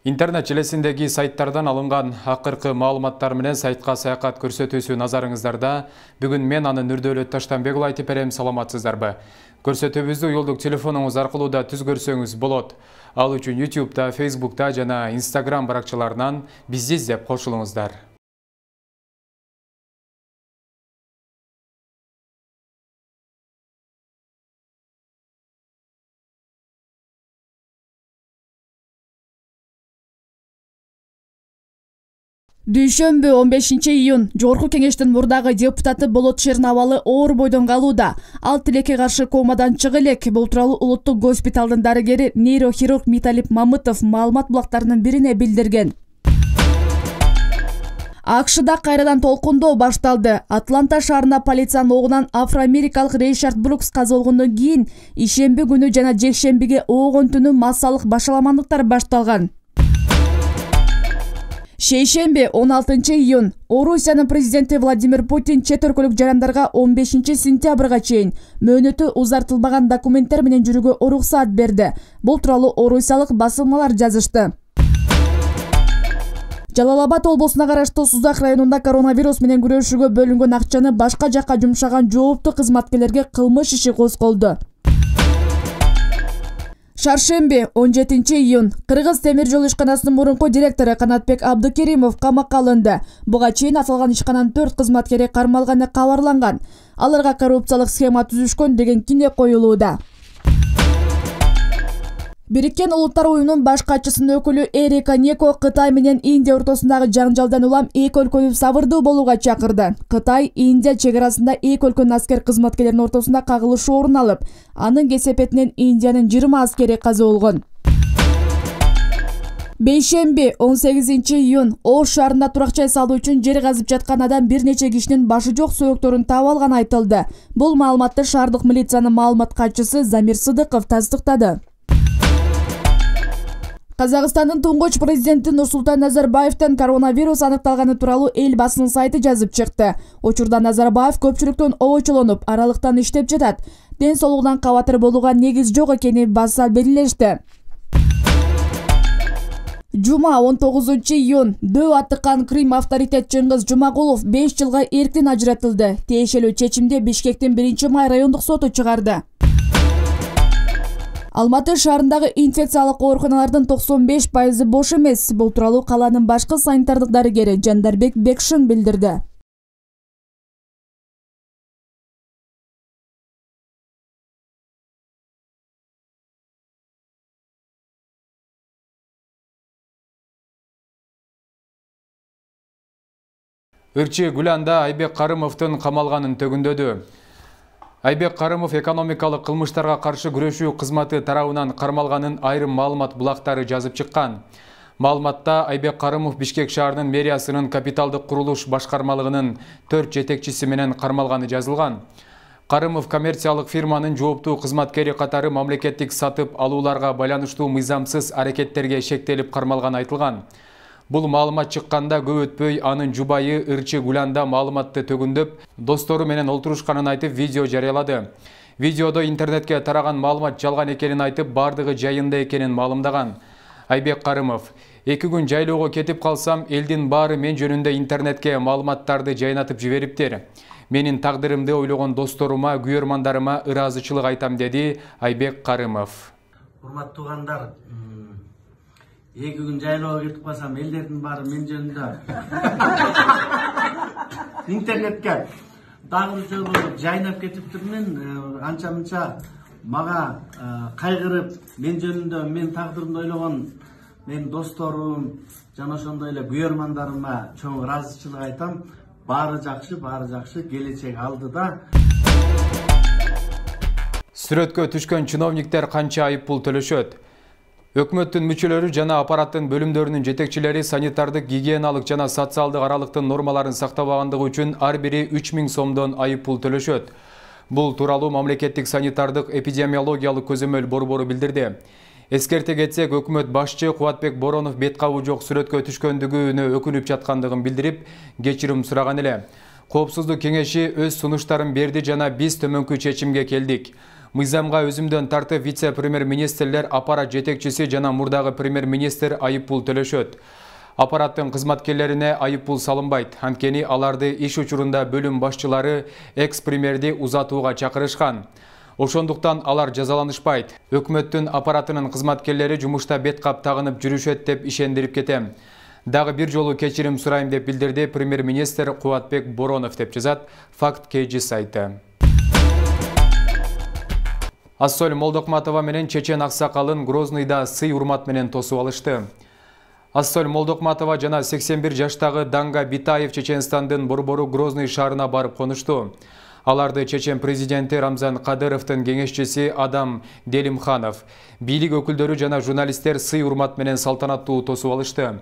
Интернет желесиндеги сайттардан алынган акыркы маалыматтар менен сайтка саякат көрсөтүүсү назарыңыздарда. Бүгүн мен анын Нурдөөлөт Таштанбек уулу айтып берем, саламатсыздарбы? Көрсөтүүбүздү уюлдук телефонуңуз аркылуу да түз көрсөңүз болот. Ал үчүн YouTube'да, Facebook'та жана Instagram баракчаларынан бизди издеп кошулуңуздар. Дүйшөмбү 15-июнь Жогорку Кеңештин мурдагы депутаты Болот Шернабалы оор бойдон калууда. Ал тилекке каршы комадан чыга элек. Бул тууралуу улуттук госпиталдын дарыгери нейрохирург Миталип Мамытов маалымат булактарынын бирине билдирген. АКШда кайрадан толкундоо башталды. Атланта шаарына полициянын огунан афро-америкалык Рейшард Брукс казылгондон кийин ишемби күнү жана жекшембиге оогон түнү массалык башаламандыктар башталган. Шейшемби 16-июнь Орусиянын президенти Владимир Путин чет өлкөлүк жарандарга 15-сентябрга чейин мөөнөтү узартылбаган документтер менен жүрүүгө уруксаат берди. Бул тууралуу орусиялык басылмалар жазышты. Жалал-Абад облусуна караштуу Сузак районунда коронавирус менен күрөшүүгө бөлүнгөн акчаны башка жакка жумшаган жооптуу кызматкерлерге кылмыш иши козголду. Шаршемби 17-июнь Кыргыз темир жол ишканасынын мурунку директору Канатбек Абдыкеримов камакка алынды. Буга чейин аталган ишкананын 4 кызматкери кармалганы кабарланган. Аларга коррупциялык схема түзүшкөн деген кине коюлууда. Бириккен Улуттар уюмунун баш катчысынын өкүлү Эрика Неко Кытай менен Индия ортосундагы жаңжалдан улам эки өлкөнү сабырдуу болууга чакырды. Кытай, Индия чек арасында эки өлкөнүн аскер кызматкерлеринин ортосунда кагылышуу орун алып, анын кесепетинен Индиянын 20 аскери каза болгон. Бейшемби 18-июнь Ош шаарында турак жай салуу үчүн жер казып жаткан адам бир нече кишинин башы жок сөйөктөрүн таап алганы айтылды. Бул маалыматты шаардык милициянын маалымат катчысы Замир Сыдыков тастыктады. Казакстандын туңгуч президенти Нурсултан Назарбаевден коронавирус аныкталганы тууралуу эл басынын сайты жазып чыкты. Учурда Назарбаев көпчүлүктөн обочолонуп, аралыктан иштеп жатат. Ден соолугунан кабатыр болууга негиз жок экени баса белгилешти. Жума 19-июнь дөп аттыккан Крим авторитет Чыңгыз Жумагулов 5 жылга эрктен ажыратылды. Тиешелүү чечимди Бишкектин 1-май райондук соту чыгарды. Алматы шаарындагы инфекциялык ооруканалардын 95% бош эмес. Бул тууралуу каланын башкы санитардык дарыгери Жандарбек Бекшин билдирди. Ырчы Гүланда Айбек Карымовдун камалганын төгүндөдү. Айбек Карымов экономикалык кылмыштарга каршы күрөшүү кызматы тарабынан кармалганын айрым маалымат булактары жазып чыккан. Маалыматта Айбек Карымов Бишкек шаарынын мэриясынын капиталдык курулуш башкармалыгынын 4 жетекчиси менен кармалганы жазылган. Карымов коммерциялык фирманын жооптуу кызматкери катары мамлекеттик сатып алууларга байланыштуу мыйзамсыз аракеттерге шектелип кармалганы айтылган. Бул маалымат чыкканда көп өтпөй анын жубайы Ырчы Гүланда маалыматты төгүндөп, достору менен олтурушканын айтып видео жарыялады. Видеодо интернетке тараган маалымат жалган экенин айтып, бардыгы жайында экенин маалымдаган. Айбек Карымов: 2 күн жайлоого кетип калсам, элдин баары мен жөнүндө интернетке маалыматтарды жайнатып жибериптир. Менин тагдырымды ойлогон досторума, күйөрмандарыма ыраазычылык айтам, деди Айбек Карымов. Урматтуу туугандар, 2 күн жайлоого кетип калсам, элдердин баары мен жөнүндө интернетке дагы жайнап кетиптирмин. Анча-мынча мага кайгырып, мен жөнүндө, мен тагдырымды ойлогон мен досторум жана ошондой эле күйөрмандарыма чоң ыраазычылык айтам. Баары жакшы, келечек алдыда. Сүрөткө түшкөн чиновниктер канча айыппул төлөшөт? Өкмөттүн мүчөлөрү жана аппараттын бөлүмдөрүнүн жетекчилери санитардык, гигиеналык жана социалдык аралыктын нормаларын сактабагандыгы үчүн ар бири 3000 сомдон айыппул төлөшөт. Бул тууралуу мамлекеттик санитардык эпидемиологиялык көзөмөл борбору билдирди. Эскерте кетсек, өкмөт башчы Кубатбек Боронов бет кабуу жок сүрөткө түшкөндүгүнө өкүнүп жаткандыгын билдирип, кечирим сураган эле. Коопсуздук кеңеши өз сунуштарын берди жана биз төмөнкү чечимге келдик. Мыйзамга өзүмдөн тартып вице-премьер-министрлер, аппарат жетекчиси жана мурдагы премьер-министр айыппул төлөшөт. Аппараттын кызматкерлерине айыппул салынбайт. Анткени аларды иш учурунда бөлүм башчылары экс-премьерди узатууга чакырышкан. Ошондуктан алар жазаланышпайт. Өкмөттүн аппаратынын кызматкерлери жумушта бет кап тагынып жүрүшөт деп ишендирип кетем. Дагы бир жолу кечирим сурайм деп билдирди премьер-министр Кубатбек Боронов деп жазат Факт KG сайты. Ассоль Молдокматова менен чечен аксакалын Грозныйда сый урмат менен тосуп алышты. Ассоль Молдокматова жана 81 жаштагы Данга Битаев Чеченстандын борбору Грозный шаарына барып конушту. Аларды чечен президенти Рамзан Кадыровдун кеңешчиси Адам Делимханов, бийлик өкүлдөрү жана журналисттер сый урмат менен салтанаттуу тосуп алышты.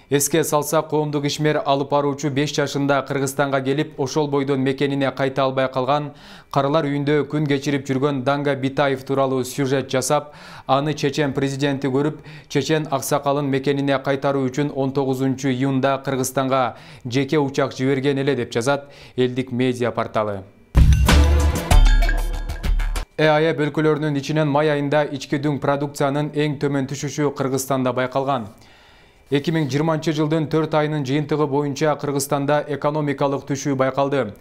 Эске салсак, коомдук ишмер алып баруучу 5 жашында Кыргызстанга келип, ошол бойдон мекенине кайта албай калган, карылар үйүндө күн кечирип жүргөн Данга Битаев тууралуу сюжет жасап, аны чечен президенти көрүп, чечен аксакалын мекенине кайтаруу үчүн 19 июнда Кыргызстанга жеке учак жиберген эле деп жазат элдик медиа порталы. ЭАЭ өлкөлөрүнүн ичинен май айында ички дүң продукциянын эң төмөн түшүшү Кыргызстанда байкалган. 2020 жылдын 4 айынын жыйынтыгы боюнча Кыргызстанда экономикалык түшүү байкалды.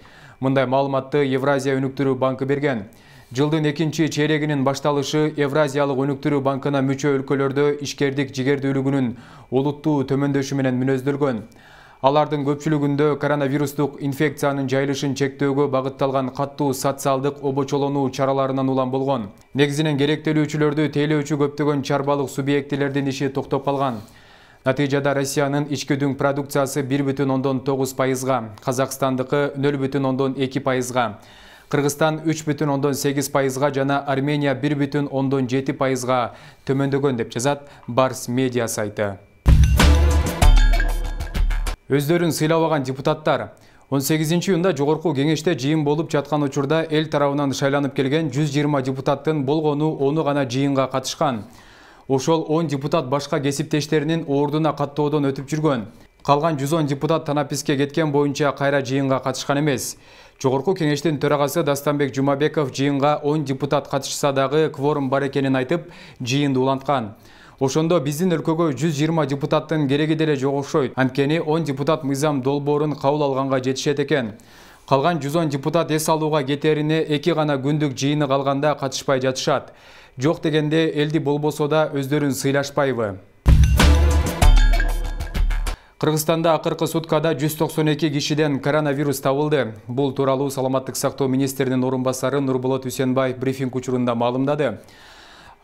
Мындай маалыматты Евразия өнүктүрүү банкы берген. Жылдын экинчи чейрегинин башталышы Евразиялык өнүктүрүү банкына мүчө өлкөлөрдө ишкердик жигердүүлүгүнүн олуттуу төмөндөшү менен мүнөздөлгөн. Алардын көпчүлүгүндө коронавирустук инфекциянын жайылышын чектөөгө багытталган каттуу социалдык обочолонуу чараларынан улам болгон. Негизинен керектелүүчүлөрдү тейлөөчү көптөгөн чарбалык субъектилердин иши токтоп калган. Натыйжада Россиянын ички дүң продукциясы 1,9%, Казакстандыкы 0,2%, Кыргызстан 3,8% жана Армения 1,7% төмөндөгөн деп жазат Барс медиа сайты. Өздөрүн сыйлабаган депутаттар 18 июнда жогорку кеңеште жыйын болуп жаткан учурда эл тарабынан шайланып келген 120 депутаттын болгону 10 гана жыйынга катышкан. Ошол 10 депутат башка кесиптештеринин ордуна каттоодон өтүп жүргөн. Калган 110 депутат танаписке кеткен боюнча кайра жыйынга катышкан эмес. Жогорку кеңештин төрагасы Дастанбек Жумабеков жыйынга 10 депутат катышса дагы кворум бар экенин айтып, жыйынды уланткан. Ошондо биздин өлкөгө 120 депутаттын кереги деле жок окшойт. Анткени 10 депутат мыйзам долбоорун кабыл алганга жетишет экен. Калган 110 депутат эс алууга кетерине 2 гана күндүк жыйыны калганда катышпай жатышат. Жок дегенде элди болбосо да өздөрүн сыйлашпайбы? Кыргызстанда акыркы суткада 192 кишиден коронавирус табылды. Бул тууралуу Саламаттык сактоо министринин орун басары Нурболот Үсенбаев брифинг учурунда маалымдады.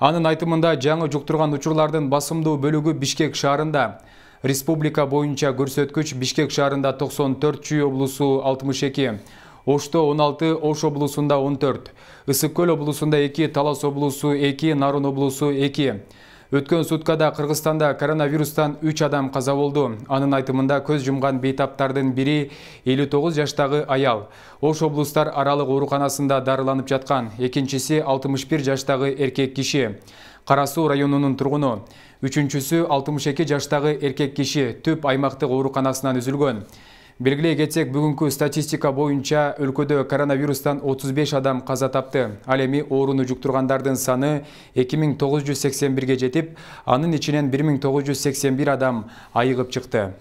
Анын айтымында жаңы жуктурган учурлардын басымдуу бөлүгү Бишкек шаарында. Республика боюнча көрсөткүч Бишкек шаарында 94, Чүй облусу 62, Ошто 16, Ош облусунда 14, Ысык Көл облусунда 2, Талас облусу 2, Нарын облусу 2. Өткөн суткада Кыргызстанда коронавирустан 3 адам каза болду. Анын айтымында көз жумган бейтаптардын бири 59 жаштагы аял. Ош облустар аралык ооруканасында дарыланып жаткан. Экинчиси 61 жаштагы эркек киши. Кара Суу районунун тургуну. Үчүнчүсү 62 жаштагы эркек киши Түп аймактык ооруканасынан үзүлгөн. Белгилей кетсек, бүгүнкү статистика боюнча өлкөдө коронавирустан 35 адам каза тапты. Ал эми ооруну жуктургандардын саны 2981ге жетип, анын ичинен 1981 адам айыгып чыкты.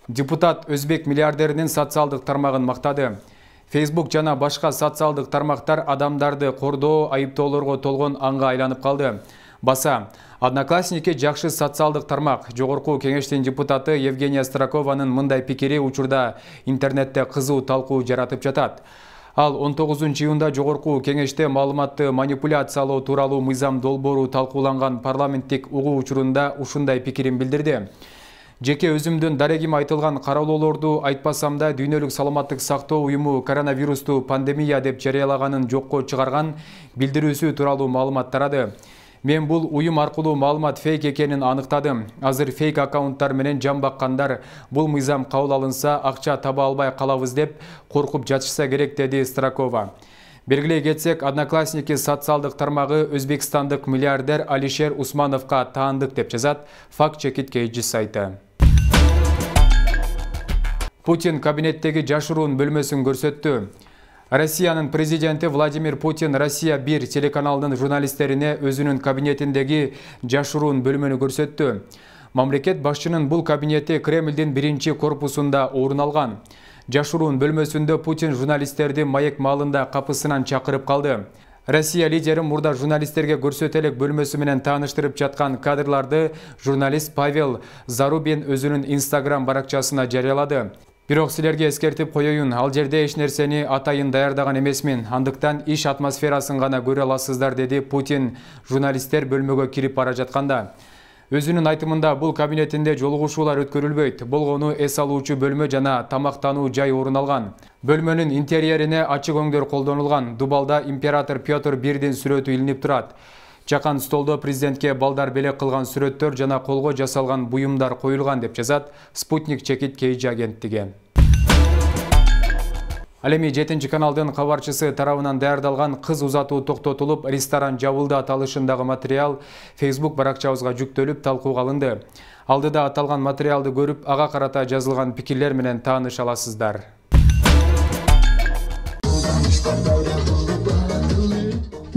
Депутат өзбек миллиардеринин социалдык тармагын мактады. Facebook жана башка социалдык тармактар адамдарды кордоо айыптоолорго толгон анга айланып калды. Баса, Одноклассники жакшы социалдык тармак. Жогорку кеңештин депутаты Евгения Стракованын мындай пикири учурда интернетте кызуу талкуу жаратып жатат. Ал 19 июнда жогорку кеңеште маалыматты манипуляциялоо тууралуу мыйзам долбоору талкууланган парламенттик угуу учурунда ушундай пикирин билдирди. Жеке өзүмдүн дарегим айтылган кароолоолорду айтпасам да Дүйнөлүк саламаттык сактоо уюму коронавирусту пандемия деп жарыялаганын жокко чыгарган билдирүүсү тууралуу маалымат тарады. Мен бул уюм аркылуу маалымат фейк экенин аныктадым. Азыр фейк аккаунттар менен жан баккандар бул мыйзам кабыл алынса акча таба албай калабыз деп коркуп жатышса керек, деди Стракова. Белгилей кетсек, Одноклассники социалдык тармагы өзбекстандык миллиардер Алишер Усмановго таандык деп жазат Факт Чекит KG сайты. Путин кабинеттеги жашыруун бөлмөсүн көрсөттү. Россиянын президенти Владимир Путин Россия 1 телеканалынын журналисттерине өзүнүн кабинетиндеги жашыруун бөлмөнү көрсөттү. Мамлекет башчынын бул кабинети Кремлдин 1 корпусунда орун алган. Жашыруун бөлмөсүндө Путин журналисттерди маек маалында капысынан чакырып калды. Россия лидери мурда журналисттерге көрсөтө элек бөлмөсү менен тааныштырып жаткан кадрларды журналист Павел Зарубин өзүнүн Instagram баракчасына жарыялады. Бирок силерге эскертип коеюн, ал жерде эч нерсени атайын даярдаган эмесмин, андыктан иш атмосферасын гана көрө аласыздар, деди Путин журналисттер бөлмөгө кирип бара жатканда. Өзүнүн айтымында бул кабинетинде жолугушуулар өткөрүлбөйт. Болгону эс алуучу бөлмө жана тамактануу жай орун алган. Бөлмөнүн интерьерине ачык өңдөр колдонулган. Дубалда император Петр Бирдин сүрөтү илинип турат. Чакан столдо президентке балдар белек кылган сүрөттөр жана колго жасалган буюмдар коюлган, деп жазат Спутник чекит KG агенттиги. Ал эми 7 каналдын кабарчысы тарабынан даярдалган кыз узатуу токтотулуп, ресторан жабылды аталышындагы материал Facebook баракчабызга жүктөлүп талкууга алынды. Алдыда аталган материалды көрүп, ага карата жазылган пикирлер менен тааныша аласыздар.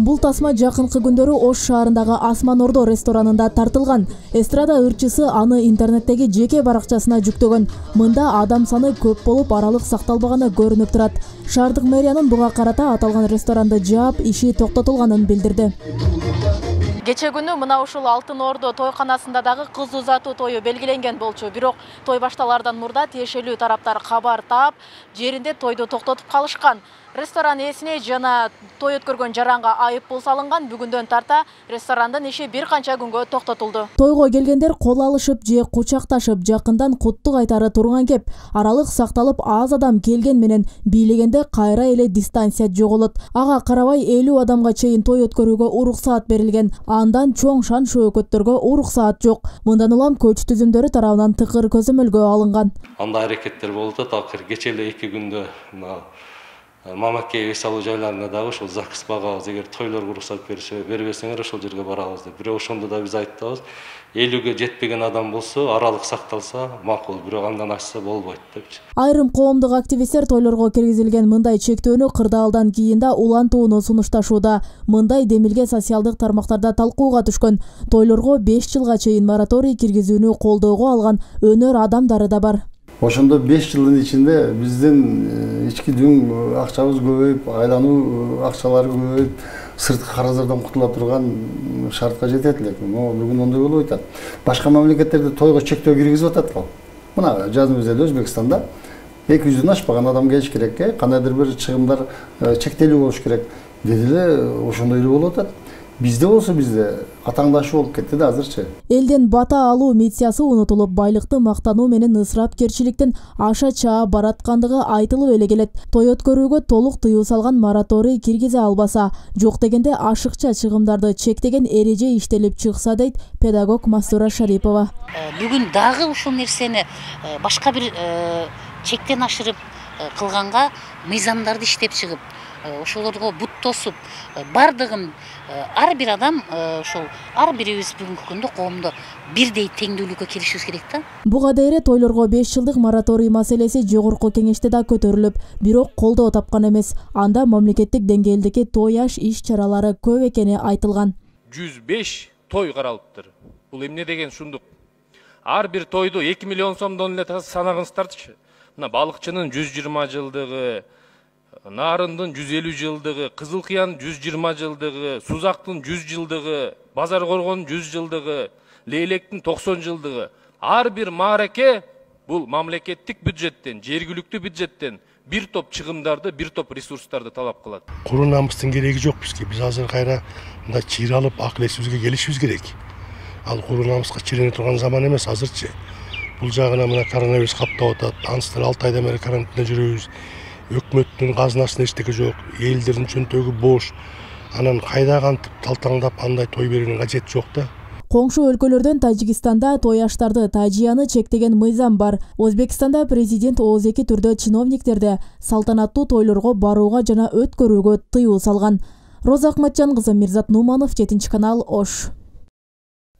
Бул тасма жакынкы күндөрү Ош шаарындагы Асман Ордо ресторанында тартылган. Эстрада ырчысы аны интернеттеги жеке баракчасына жүктөгөн. Мында адам саны көп болуп, аралык сакталбаганы көрүнүп турат. Шаардык мэриянын буга карата аталган ресторанды жаап, иши токтотулганын билдирди. Кече күнү мына ушул Алтын Ордо тойканасында дагы кыз узатуу тою белгиленген болчу. Бирок той башталардан мурда тиешелүү тараптар кабар таап, жеринде тойду токтотуп калышкан. Ресторан ээсине жана той өткөргөн жаранга айып пул салынган. Бүгүндөн тарта ресторандын иши бир канча күнгө токтотулду. Тойго келгендер кол алышып же кучакташып, жакындан куттук айтары турган кеп. Аралык сакталып, аз адам келген менен бийлегенде кайра эле дистанция жоголот. Ага карабай 50 адамга чейин той өткөрүүгө уруксаат берилген. Андан чоң шан шөөгөттөргө уруксаат жок. Мындан улам көч түзүмдөрү тарабынан тыкыр көзөмөлгө алынган. Андай аракеттер болуп атат. Акыр кече эле 2 күндө Мамакей эс алуу жайларында дагы ошол ЗАГС багабыз, эгер тойлорго уруксат бербесеңер ошол жерге барабыз деп. Бирок ошондо да биз айтабыз, 50ге жетпеген адам болсо, аралык сакталса макул, бирок андан ашса болбойт депчи. Айрым коомдук активисттер тойлорго киргизилген мындай чектөөнү кырдаалдан кийин да улантууну сунушташууда. Мындай демилге социалдык тармактарда талкууга түшкөн. Тойлорго 5 жылга чейин мораторий киргизүүнү колдоого алган өнөр адамдары да бар. Ошондо 5 жылдын ичинде биздин ички дүң акчабыз көбөйүп, айлануу акчалары көбөйүп, сырткы карыздардан кутула турган шартка жетет элек. Бүгүн ондой болуп атат. Башка мамлекеттерде тойго чектөө киргизип атат го. Мына жазымыз эле Өзбекстанда 200дөн ашпаган адам келиш керек, кандайдыр бир чыгымдар чектелүү болуш керек. Деди эле ошондой эле болуп атат. Бизде болсо атаңдашуу болуп кетти да азырчы. Элден бата алуу миссиясы унутулуп, байлыкты мактануу менен ысырапкерчиликтин аша чаа бараткандыгы айтылып эле келет. Той өткөрүүгө толук тыюу салган мораторий киргизе албаса, жок дегенде ашыкча чыгымдарды чектеген эреже иштелип чыкса, дейт педагог Мастура Шарипова. Бүгүн дагы ушул нерсени башка бир чектен ашырып кылганга мыйзамдарды иштеп чыгып, ошолорго бут тосуп, бардыгын ар бир адам ошол ар бирибиз бүгүнкү күндө коомдо бирдей теңдүүлүккө келишибиз керек да. Буга дейре тойлорго 5 жылдык мораторий маселеси жогорку кеңеште да көтөрүлүп, бирок колдоо тапкан эмес. Анда мамлекеттик деңгээлдеги той аш иш-чаралары көп экени айтылган. 105 той каралыптыр. Бул эмне деген шундук? Ар бир тойду 2 миллион сомдон эле санагыңыздарчы. Мына балыкчынын 120 жылдыгы, Нарындын 150 жылдыгы, Кызыл Кыян 120 жылдыгы, Сузактын 100 жылдыгы, Базар Коргон 100 жылдыгы, Лейлектин 90 жылдыгы. Ар бир маареке бул мамлекеттик бюджеттен, жергиликтүү бюджеттен бир топ чыгымдарды, бир топ ресурстарды талап кылат. Куру намыстын кереги жок бизге. Биз азыр кайра мындай чыйралып, акыл эсибизге келишибиз керек. Ал куру намыска чирене турган заман эмес азырчы. Бул жагына мына коронавирус каптап атат. Аныстан 6 айдан бери карантинде жүрөбүз. Өкмөттүн казынасында эчтеке жок, элдердин чөнтөгү бош. Анан кайда кантип талтаңдап андай той берүүнүн кажети жок да. Коңшу өлкөлөрдөн Тажикстанда той аштарды тажияны чектеген мыйзам бар. Өзбекстанда президент ооз-эки түрдө чиновниктерди салтанаттуу тойлорго барууга жана өткөрүүгө тыюу салган. Роза Акматжан кызы, Мирзат Нуманов, 7 канал, Ош.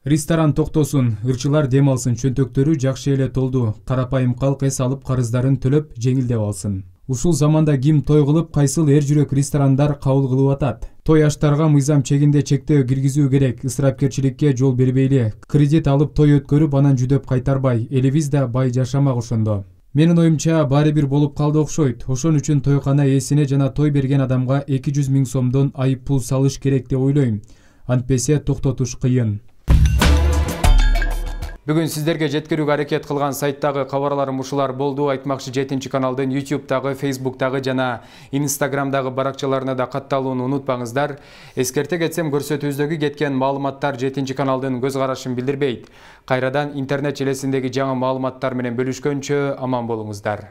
Ресторан токтосун, ырчылар дем алсын, чөнтөктөрү жакшы эле толду. Карапайым калк эс алып карыздарын төлөп жеңилдеп алсын. Ушул заманда ким той кылып, кайсыл эр жүрөк ресторандар кабыл кылып атат? Той аштарга мыйзам чегинде чектөө киргизүү керек, ысырапкерчиликке жол бербейли. Кредит алып той өткөрүп, анан жүдөп кайтарбай, элибиз да бай жашамак ошондо. Менин оюмча баары бир болуп калды окшойт. Ошон үчүн тойкана ээсине жана той берген адамга 200 000 сомдон айып пул салыш керек деп ойлойм. Антпесе токтотуш кыйын. Бүгүн сиздерге жеткирүүгө аракет кылган сайттагы кабарларым ушулар болду. Айтмакчы 7 каналдын YouTube'дагы, Facebook'дагы жана Instagram'дагы баракчаларына да катталууну унутпаңыздар. Эскерте кетсем, көрсөтүүбүздөгү кеткен маалыматтар 7 каналдын көз карашын билдирбейт. Кайрадан интернет желесиндеги жаңы маалыматтар менен бөлүшкөнчө аман болуңуздар.